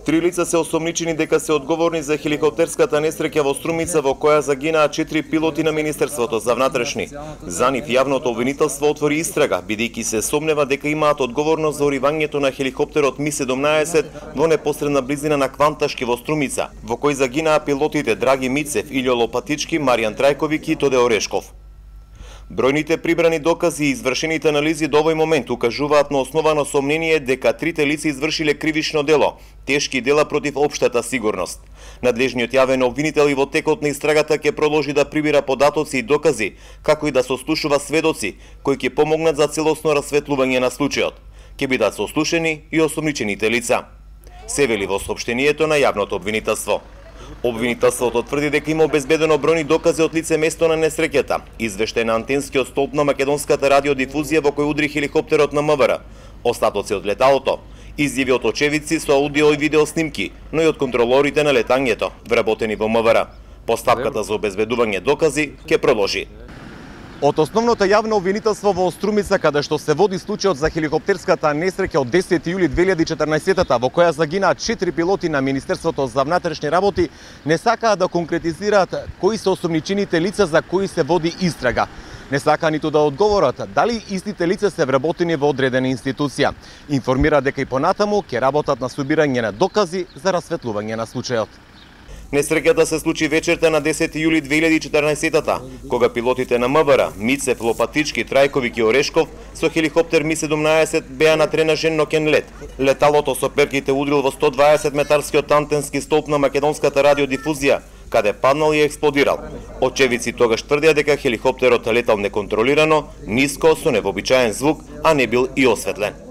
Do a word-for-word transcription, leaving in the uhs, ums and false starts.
Три лица се осомничени дека се одговорни за хеликоптерската несреќа во Струмица во која загинаа четири пилоти на Министерството за внатрешни. За нив јавното обвинителство отвори истрага, бидејќи се сомнева дека имаат одговорност за уривањето на хеликоптерот Ми седумнаесет во непосредна близина на Кванташки во Струмица, во кој загинаа пилотите Драги Мицев, Илјо Лопатички, Маријан Трајковик и Тоде Орешков. Бројните прибрани докази и извршените анализи до овој момент укажуваат на основано сомнение дека трите лица извршиле кривично дело, тешки дела против општата сигурност. Надлежниот јавен обвинител и во текот на истрагата ќе продолжи да прибира податоци и докази, како и да сослушува сведоци кои ќе помогнат за целосно расветлување на случајот. Ќе бидат сослушени и осомничените лица, се вели во соопштението на јавното обвинителство. Обвинителството тврди дека има обезбедено бројни докази од лице место на несреќата, извештај на антенскиот столб на македонската радиодифузија во кој удри хеликоптерот на МВР, остатоци од леталото, изјави од очевидци со аудио и видео снимки, но и од контролорите на летањето, вработени во МВР. Постапката за обезбедување докази ќе продолжи. Од основното јавно обвинителство во Струмица, каде што се води случајот за хеликоптерската несреќа од десети јули две илјади и четрнаесетта, во која загинаа четири пилоти на Министерството за внатрешни работи, не сакаа да конкретизираат кои се осомничените лица за кои се води истрага. Не сакаа ниту да одговорат дали истите лица се вработени во одредена институција. Информира дека и понатаму ќе работат на собирање на докази за расветлување на случајот. Несреќата се случи вечерта на десети јули две илјади и четрнаесетта, кога пилотите на МВР, Мицев, Лопатички, Трајковик и Орешков со хеликоптер Ми седумнаесет беа на тренажен ноќен лет. Леталото со перките удрил во сто дваесет метарскиот антенски столб на македонската радиодифузија, каде паднал и експлодирал. Очевидци тогаш тврдеа дека хеликоптерот летал неконтролирано, ниско, со невообичаен звук, а не бил и осветлен.